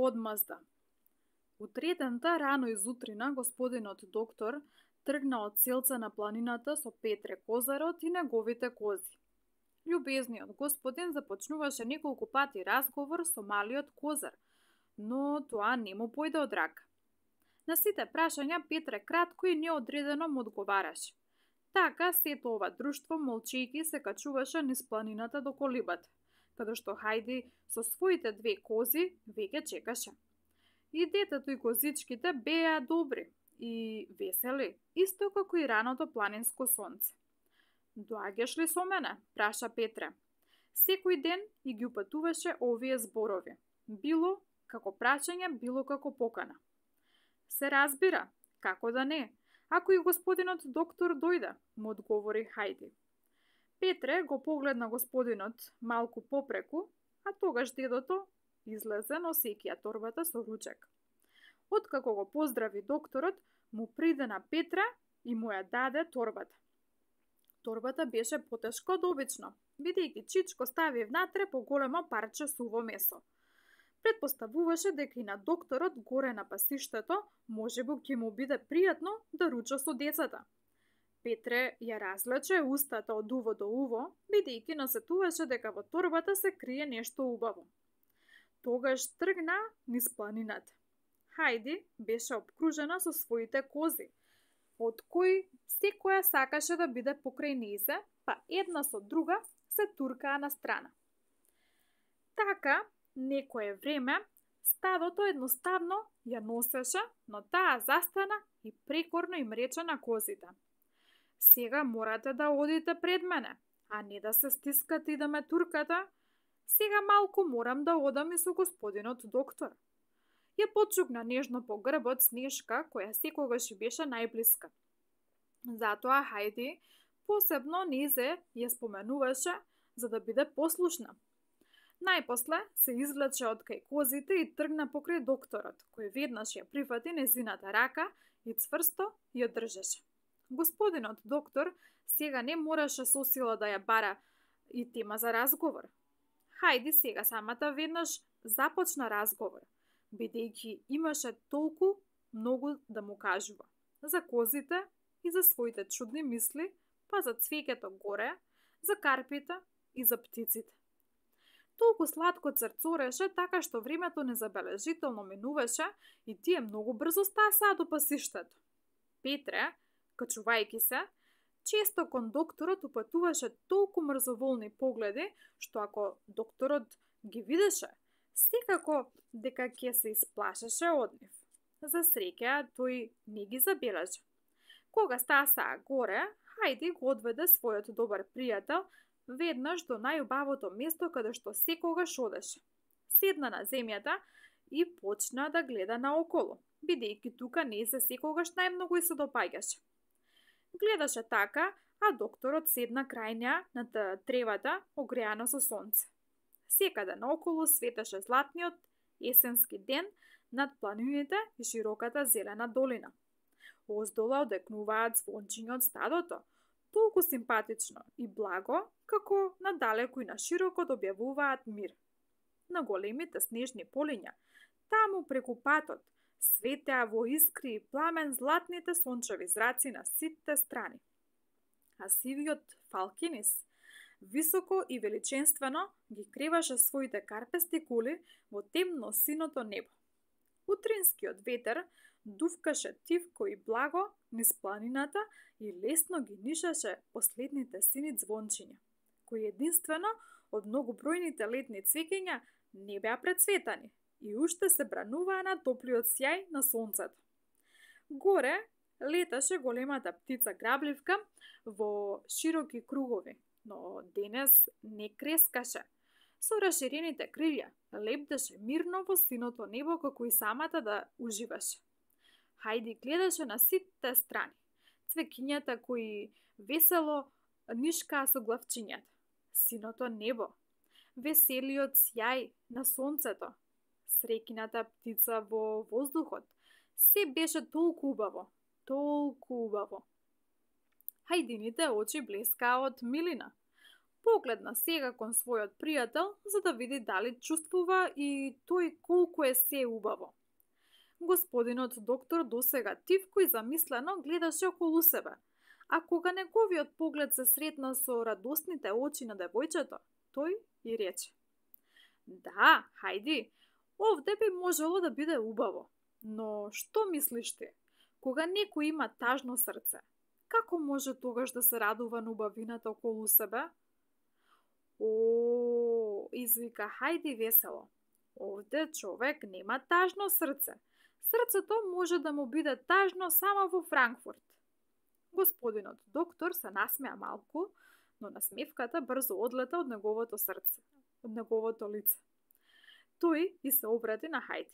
Одмазда. Утретента рано изутрина господинот доктор тргна од селце на планината со Петре Козарот и неговите кози. Љубезниот господин започнуваше неколку пати разговор со малиот Козар, но тоа не му појде од рака. На сите прашања Петре кратко и неодредено му одговараше. Така сето ова друштво молчејќи се качуваше низ планината до колибата, каде што Хајди со своите две кози веќе чекаше. И детето и козичките беа добри и весели, исто како и раното планинско сонце. Доаѓаш ли со мене? Праша Петре. Секој ден и ги упатуваше овие зборови. Било како прашање, било како покана. Се разбира, како да не, ако и господинот доктор дојде, му одговори Хајди. Петре го погледна господинот малку попреку, а тогаш дедото излезе носејќи ја торбата со ручек. Откако го поздрави докторот, му приде на Петре и му ја даде торбата. Торбата беше потешка од обично, бидејќи Чичко стави внатре поголемо парче суво месо. Предпоставуваше дека и на докторот горе на пасиштето можеби ќе му биде пријатно да руча со децата. Петре ја разлече устата од уво до уво, бидејќи насетуваше дека во торбата се крие нешто убаво. Тогаш тргна низ планината. Хајди беше обкружена со своите кози, од кои секоја сакаше да биде покрај нејзе, па една со друга се туркаа на страна. Така, некое време, стадото едноставно ја носеше, но таа застана и прекорно им рече на козите. Сега морате да одите пред мене, а не да се стискате и да ме туркате. Сега малку морам да одам и со господинот доктор. Ја почукна нежно по грбот Снежка, која секогаш беше најблиска. Затоа Хајди посебно нејзе ја споменуваше за да биде послушна. Најпосле се извлече од кај козите и тргна покрај докторот, кој веднаш ја прифати незината рака и цврсто ја држеше. Господинот доктор сега не мораше со сила да ја бара и тема за разговор. Хајди сега самата веднаш започна разговор, бидејќи имаше толку многу да му кажува. За козите и за своите чудни мисли, па за цвеќето горе, за карпите и за птиците. Толку сладко црцореше, така што времето незабележително минуваше и тие многу брзо стасаа до пасиштето. Петре, качувајќи се, често кон докторот упатуваше толку мрзоволни погледи, што ако докторот ги видеше, секако дека ќе се исплашеше од нив. За среќа, тој не ги забележа. Кога стасаа горе, Хајди го одведе својот добар пријател веднаш до најубавото место каде што секогаш одеше. Седна на земјата и почна да гледа наоколу, бидејќи тука не се секогаш најмногу и се допаѓаше. Гледаше така, а докторот седна крај неа на тревата, огреана со сонце. Секаде наоколу светеше златниот есенски ден над планините и широката зелена долина. Оздола одекнуваат звончиња од стадото, толку симпатично и благо, како надалеку и на широко објавуваат мир. На големите снежни полиња, таму преку патот, светеа во искри и пламен златните сончеви зраци на сите страни. А сивиот фалкинис, високо и величенствено, ги креваше своите карпести кули во темно синото небо. Утринскиот ветер дувкаше тивко и благо низ планината и лесно ги нишаше последните сини звончиња, кои единствено од многобројните летни цвеќиња не беа прецветани и уште се брануваа на топлиот сјај на сонцето. Горе леташе големата птица грабливка во широки кругови, но денес не крескаше. Со расширените крилја лепдеше мирно во синото небо како и самата да уживаше. Хајди гледаше на сите страни, цвеќињата кои весело нишкаа со главчињата, синото небо, веселиот сјај на сонцето, среќината птица во воздухот. Се беше толку убаво, толку убаво. Хајдините очи блескаа од милина. Погледна сега кон својот пријател за да види дали чувствува и тој колку е се убаво. Господинот доктор досега тивко и замислено гледаше околу себе, а кога неговиот поглед се сретна со радосните очи на девојчето, тој и рече: "Да, хајди, овде би можело да биде убаво, но што мислиш ти? Кога некој има тажно срце, како може тогаш да се радува на убавината околу себе?" "О, извика Хајди весело, овде човек нема тажно срце. Срцето може да му биде тажно само во Франкфурт." Господинот доктор се насмеа малку, но насмевката брзо одлета од неговото срце, од неговото лице. Тој и се обрати на Хајди.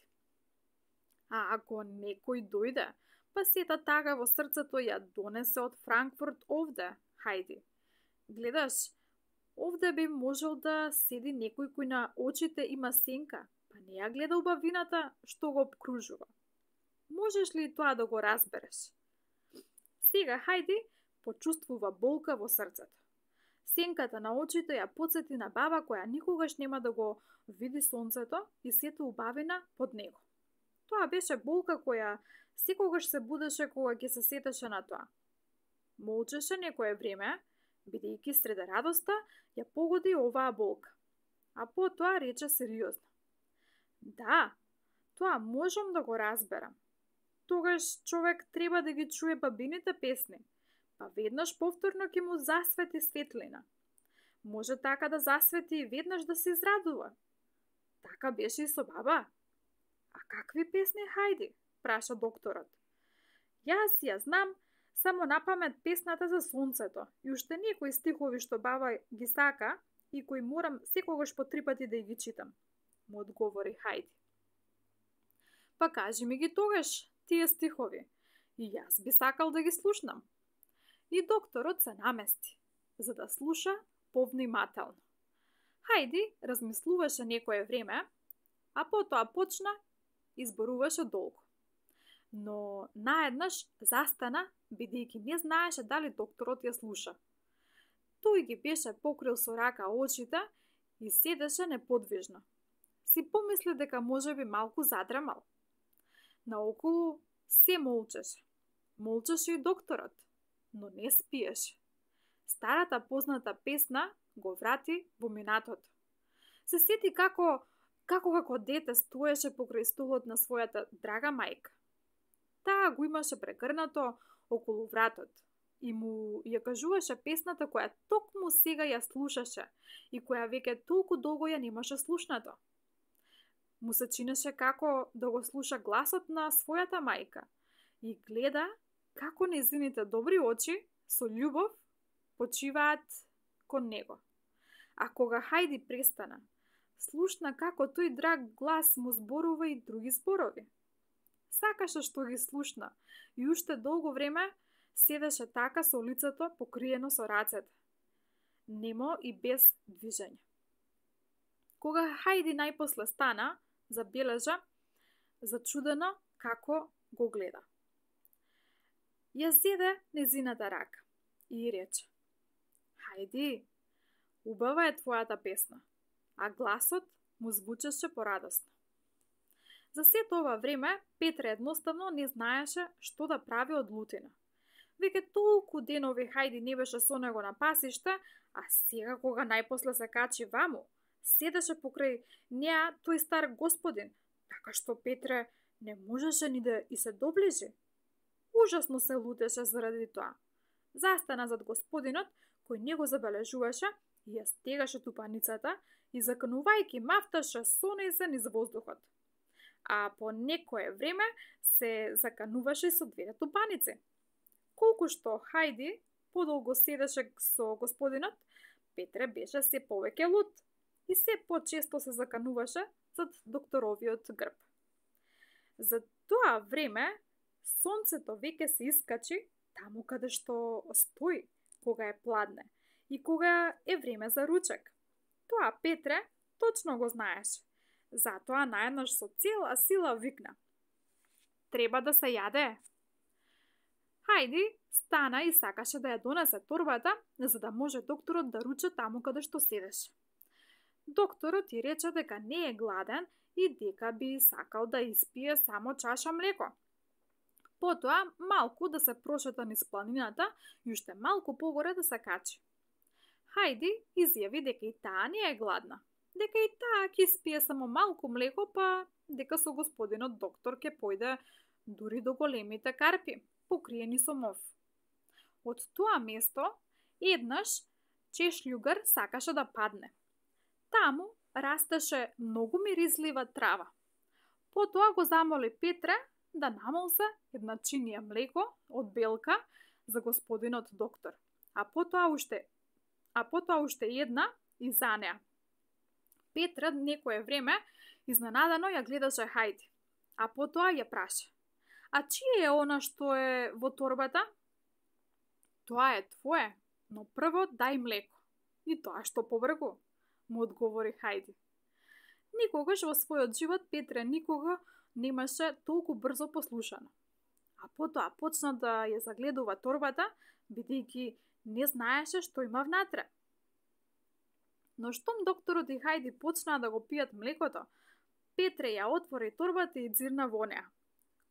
"А ако некој дојде, па сета тага во срцето ја донесе од Франкфурт овде, Хајди. Гледаш, овде би можел да седи некој кој на очите има сенка, па не ја гледа убавината што го обкружува. Можеш ли тоа да го разбереш?" Сега Хајди почувствува болка во срцето. Сенката на очите ја потсети на баба која никогаш нема да го види сонцето и сето убавина под него. Тоа беше болка која секогаш се будеше кога ќе се сетеше на тоа. Молчеше некое време, бидејќи среде радоста ја погоди оваа болка. А потоа рече сериозно: "Да, тоа можам да го разберам. Тогаш човек треба да ги чуе бабините песни, па веднаш повторно ќе му засвети светлина. Може така да засвети и веднаш да се израдува. Така беше и со баба." "А какви песни, Хајди?" праша докторот. "Јас ја знам само напамет песната за сонцето и уште некои стихови што баба ги сака и кои морам секогаш по 3 пати да ги читам," му одговори Хајди. "Па кажи ми ги тогаш тие стихови, и јас би сакал да ги слушнам." И докторот се намести, за да слуша повнимателно. Хајди размислуваше некое време, а потоа почна и зборуваше долго. Но наеднаш застана, бидејќи не знаеше дали докторот ја слуша. Тој ги беше покрил со рака очите и седеше неподвижно. Си помисли дека можеби малку задремал. Наоколу се молчеше. Молчеше и докторот, но не спиеше. Старата позната песна го врати во минатото. Се сети како како дете стоеше покрај столот на својата драга мајка. Таа го имаше прегрнато околу вратот и му ја кажуваше песната која токму сега ја слушаше и која веќе толку долго ја немаше слушнато. Му се чинеше како да го слуша гласот на својата мајка и гледа како нејзините добри очи со љубов почиваат кон него. А кога Хајди престана, слушна како тој драг глас му зборува и други зборови. Сакаше што ги слушна и уште долго време седеше така со лицето покриено со рацете, немо и без движење. Кога Хајди најпосле стана, забележа зачудено како го гледа. Ја зеде нејзината рака и рече: "Хајди, убава е твојата песна," а гласот му звучеше порадосно. За сето ова време Петре едноставно не знаеше што да прави од лутина. Веќе толку денови Хајди не беше со него на пасиште, а сега кога најпосле се качи ваму, седеше покрај неа тој стар господин, така што Петре не можеше ни да и се доближи. Ужасно се лутеше заради тоа. Застана зад господинот, кој не го забележуваше и ја стегаше тупаницата и заканувајќи мафташе сонесен низ воздухот. А по некое време се закануваше со двете тупаници. Колку што Хајди подолго седеше со господинот, Петре беше се повеќе лут и се почесто се закануваше зад докторовиот грб. За тоа време сонцето веќе се искачи таму каде што стои кога е пладне и кога е време за ручек. Тоа Петре точно го знаеше. Затоа наеднаш со цела сила викна: "Треба да се јаде." Хајди стана и сакаше да ја донесе торбата, за да може докторот да руче таму каде што седеше. Докторот ја рече дека не е гладен и дека би сакал да испие само чаша млеко. Потоа малку да се прошета низ планината и уште малку погоре да се качи. Хајди изјави дека и таа не е гладна, дека и таа ќе испие само малку млеко, па дека со господинот доктор ќе појде дури до големите карпи, покриени со мов. Од тоа место, еднаш чешљугар сакаше да падне. Таму растеше многу миризлива трава. Потоа го замоли Петре да намолзе една чинија млеко од белка за господинот доктор, а потоа уште една и за неа. Петре некое време изненадано ја гледаше Хајди, а потоа ја праша: "А чие е она што е во торбата?" "Тоа е твое, но прво дај млеко. И тоа што побргу," му одговори Хајди. Никогаш во својот живот Петре никога немаше толку брзо послушано. А потоа почна да ја загледува торбата, бидејќи не знаеше што има внатре. Но штом докторот и Хајди почнаа да го пијат млекото, Петре ја отвори торбата и дзирна во неа.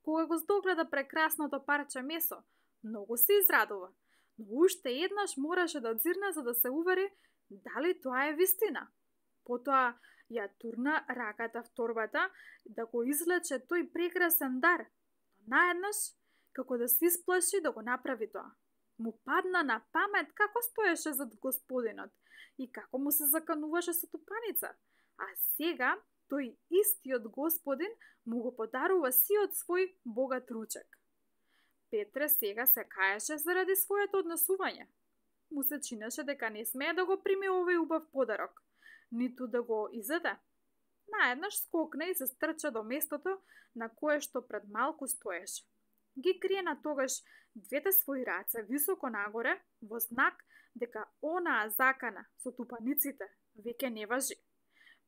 Кога го здогледа прекрасното парче месо, многу се израдува, но уште еднаш мораше да дзирне за да се увери дали тоа е вистина. Потоа ја турна раката в торбата да го извлече тој прекрасен дар, но наеднаш, како да се исплаши да го направи тоа, му падна на памет како стоеше зад господинот и како му се закануваше со тупаница, а сега тој истиот господин му го подарува сиот свој богат ручек. Петре сега се каеше заради своето однесување. Му се чинеше дека не смее да го прими овој убав подарок, ниту да го изеде. Наеднаш скокна и се стрча до местото на кое што пред малку стоеше. Ги криена тогаш двете своји раце високо нагоре во знак дека онаа закана со тупаниците веќе не важи.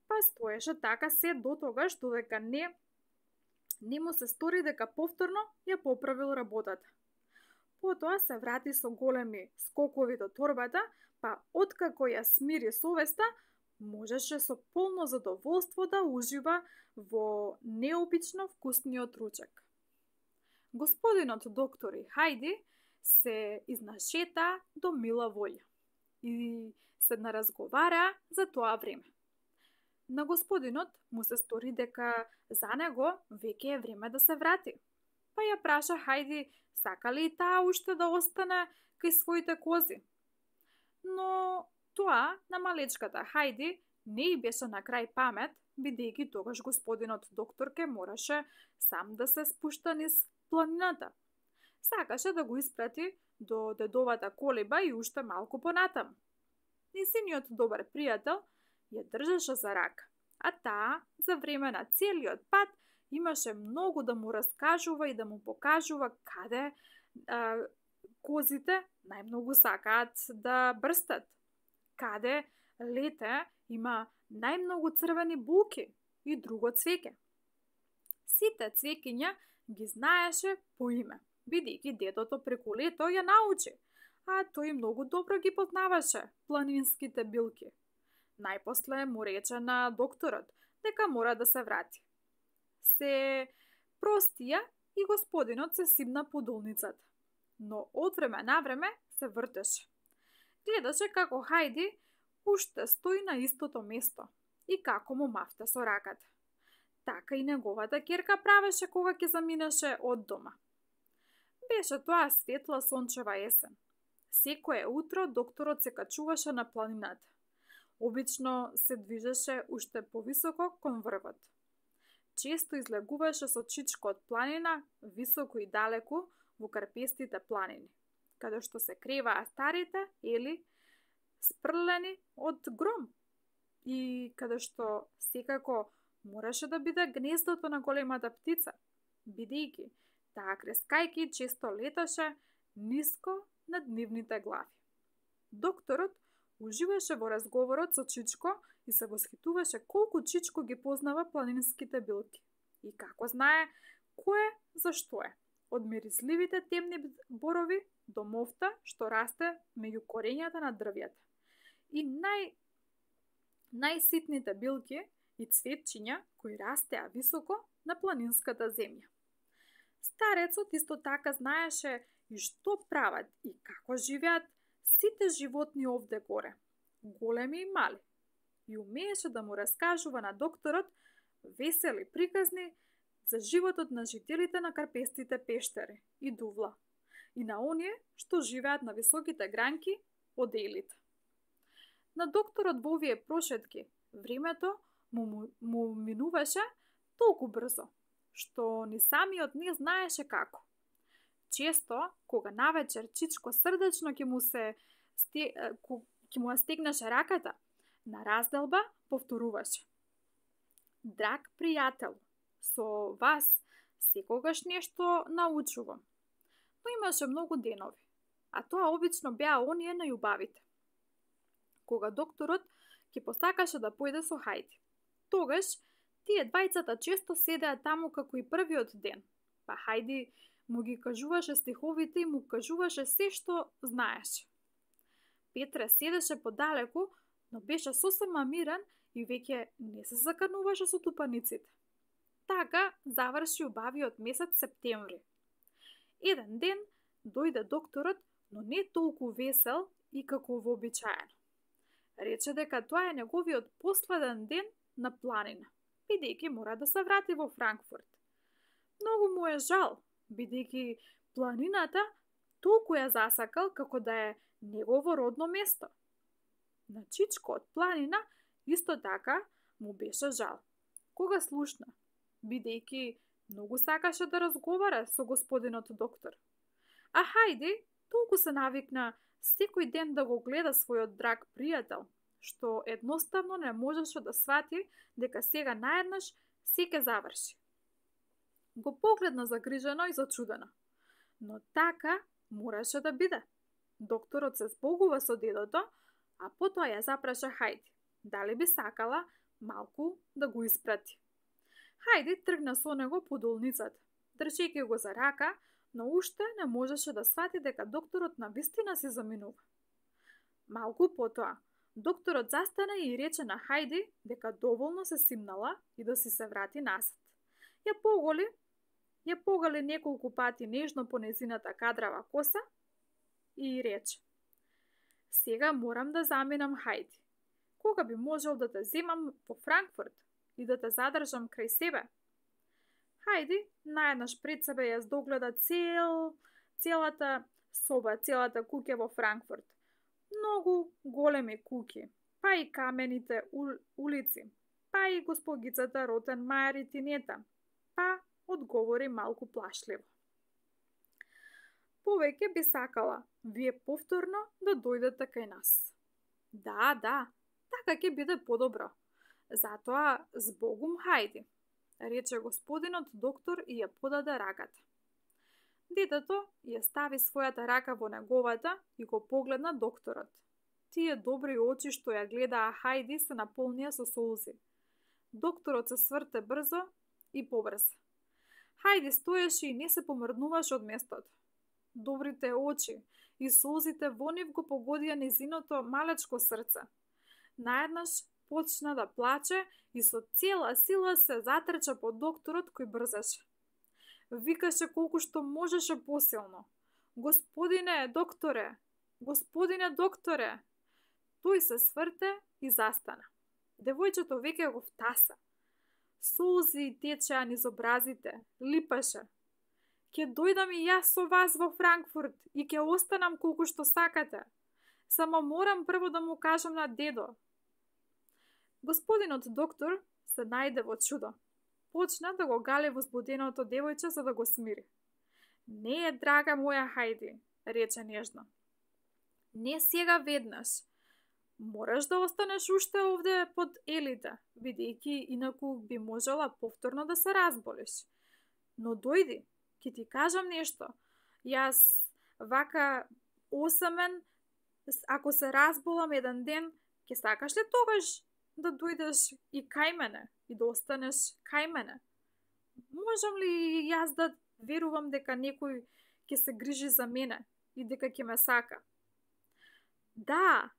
Па стоеше така се до тогаш додека не му се стори дека повторно ја поправил работата. Потоа се врати со големи скокови до торбата, па откако ја смири совеста, можеше со полно задоволство да ужива во необично вкусниот ручек. Господинот доктор и Хајди се изнашета до мила волја и се наразговара за тоа време. На господинот му се стори дека за него веќе е време да се врати. Па ја праша Хајди сака ли и таа уште да остане кај своите кози. Но тоа на малечката Хајди не и беше на крај памет, бидејќи тогаш господинот доктор ке мораше сам да се спушта низ планината. Сакаше да го испрати до дедовата колиба и уште малку понатаму. Несиниот добар пријател ја држеше за рака, а таа за време на целиот пат имаше многу да му раскажува и да му покажува каде козите најмногу сакаат да брстат, каде лете има најмногу црвени булки и друго цвеќе. Сите цвеќиња ги знаеше по име, бидејќи дедото преку лето ја научи, а тој многу добро ги познаваше планинските билки. Најпосле му рече на докторот дека мора да се врати. Се простија и господинот се симна по долницата, но од време на време се вртеше. Гледаше како Хајди уште стои на истото место и како му мафта со раката. Така и неговата ќерка правеше кога ќе заминеше од дома. Беше тоа светла сончева есен. Секое утро докторот се качуваше на планината. Обично се движеше уште повисоко кон врвот. Често излегуваше со чичко од планина, високо и далеку во карпестите планини, каде што се креваа старите ели спрлени од гром и каде што секако мораше да биде гнездото на големата птица, бидејќи таа крескајки често леташе ниско над нивните глави. Докторот уживаше во разговорот со Чичко и се восхитуваше колку Чичко ги познава планинските билки и како знае кое за што е. од мирисливите темни борови до мофта што расте меѓу корењата на дрвјата и најситните билки и цветчиња кои растеа високо на планинската земја. Старецот исто така знаеше и што прават и како живеат сите животни овде горе, големи и мали, и умееше да му раскажува на докторот весели приказни за животот на жителите на карпестите пештери и дувла и на оние што живеат на високите гранки од елите. На докторот во овие прошетки времето му минуваше толку брзо, што ни самиот не знаеше како. Често, кога навечер Чичко срдечно ќе му стегнеше раката, на разделба повторуваше: Драг пријател, со вас секогаш нешто научувам. Но имаше многу денови, а тоа обично беа оние најубавите. Кога докторот ќе посакаше да појде со Хајди. Тогаш тие двајцата често седеа таму како и првиот ден, па Хајди му ги кажуваше стиховите и му кажуваше се што знаеше. Петре седеше подалеку, но беше сосема мирен и веќе не се закануваше со тупаниците. Така заврши убавиот месец септември. Еден ден дојде докторот, но не толку весел и како вообичаено. Рече дека тоа е неговиот последен ден на планина, бидејќи мора да се врати во Франкфурт. Многу му е жал, бидејќи планината толку ја засакал како да е негово родно место. На Чичко од планина исто така му беше жал. Кога слушна, бидејќи многу сакаше да разговара со господинот доктор. А Хајди толку се навикна секој ден да го гледа својот драг пријател, што едноставно не можеше да свати дека сега наеднаш се ќе заврши. Го погледна загрижено и зачудено, но така мораше да биде. Докторот се збогува со дедото, а потоа ја запраша Хајди дали би сакала малку да го испрати. Хајди тргна со него по долницата, држејќи го за рака, но уште не можеше да свати дека докторот навистина се заминува. Малку потоа, докторот застана и рече на Хајди дека доволно се симнала и да си се врати назад. Ја погали неколку пати нежно по незината кадрава коса и рече: Сега морам да заминам, Хајди. Кога би можел да те земам во Франкфурт и да те задржам крај себе? Хајди наеднаш пред себе ја догледа целата соба, целата куќа во Франкфурт. Многу големи куќи, па и камените улици, па и госпогицата Ротенмајер и Тинета, па одговори малку плашливо: Повеќе би сакала вие повторно да дојдете кај нас. Да, така ќе биде подобро. Затоа збогум, Хајди, рече господинот доктор и ја подаде раката. Детето ја стави својата рака во неговата и го погледна докторот. Тие добри очи што ја гледаа Хајди се наполнија со солзи. Докторот се сврте брзо и побрзо. Хајди стоеше и не се помрднуваше од местото. Добрите очи и солзите во нив го погодија незиното малечко срце. Наеднаш почна да плаче и со цела сила се затрча по докторот кој брзаше. Викаше колку што можеше посилно: Господине докторе! Господине докторе! Тој се сврте и застана. Девојчето веќе го втаса. Солзи течеа низ образите, липаше. Ке дојдам и јас со вас во Франкфурт и ке останам колку што сакате. Само морам прво да му кажам на дедо. Господинот доктор се најде во чудо. Почна да го гали возбуденото девојче за да го смири. Не е, драга моја Хајди, рече нежно. Не сега веднаш. Мораш да останеш уште овде под елите, бидејќи инаку би можела повторно да се разболиш. Но дојди, ќе ти кажам нешто. Јас вака осамен, ако се разболам еден ден, ќе сакаш ли тогаш да дојдеш и кај мене и да останеш кај мене? Можам ли јас да верувам дека некој ќе се грижи за мене и дека ќе ме сака. Да,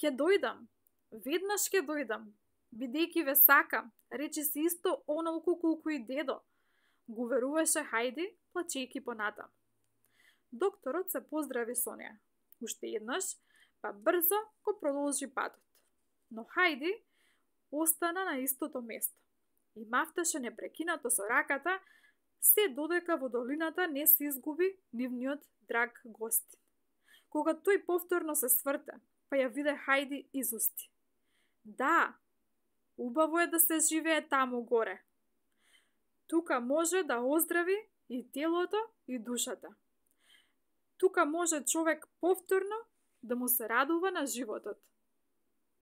ќе дојдам. Веднаш ќе дојдам. Бидејќи ве сакам, речи си исто онолку колку и дедо, го веруваше Хајди, плачејќи понатам. Докторот се поздрави со неа. Уште еднаш, па брзо го продолжи патот. Но Хајди остана на истото место и мафташе непрекинато со раката, се додека во долината не се изгуби нивниот драг гостин. Кога тој повторно се сврте, па ја виде Хајди изусти. Да, убаво е да се живее таму горе. Тука може да оздрави и телото и душата. Тука може човек повторно да му се радува на животот.